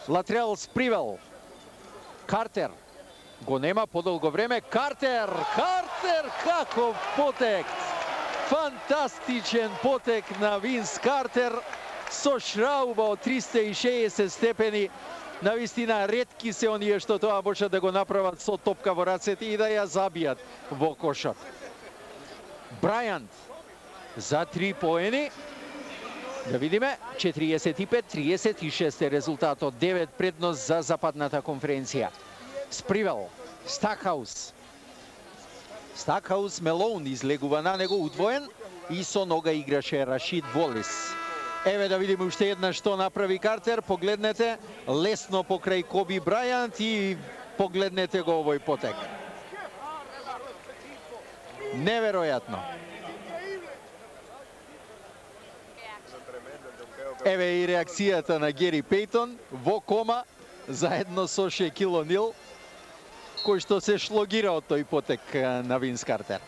Латрел Спривел. Картер. Го нема подолго време. Картер! Картер! Каков потек! Фантастичен потек на Винс Картер со шрауба од 360 степени. Навистина ретки се оние што тоа може да го направат со топка во рацете и да ја забијат во кошот. Брајант за 3 поени. Да видиме, 45-36 е резултатот, 9 предност за западната конференција. Спривел, Стакхаус. Стакхаус, Мелоун излегува на него удвоен и со нога играше Рашид Волис. Еве да видиме уште една што направи Картер, погледнете, лесно покрај Коби Брајант и погледнете го овој потек. Неверојатно. Еве и реакцијата на Гери Пейтон во кома, заедно со Шекил Онил, кој што се шлогира од тој потек на Винс Картер.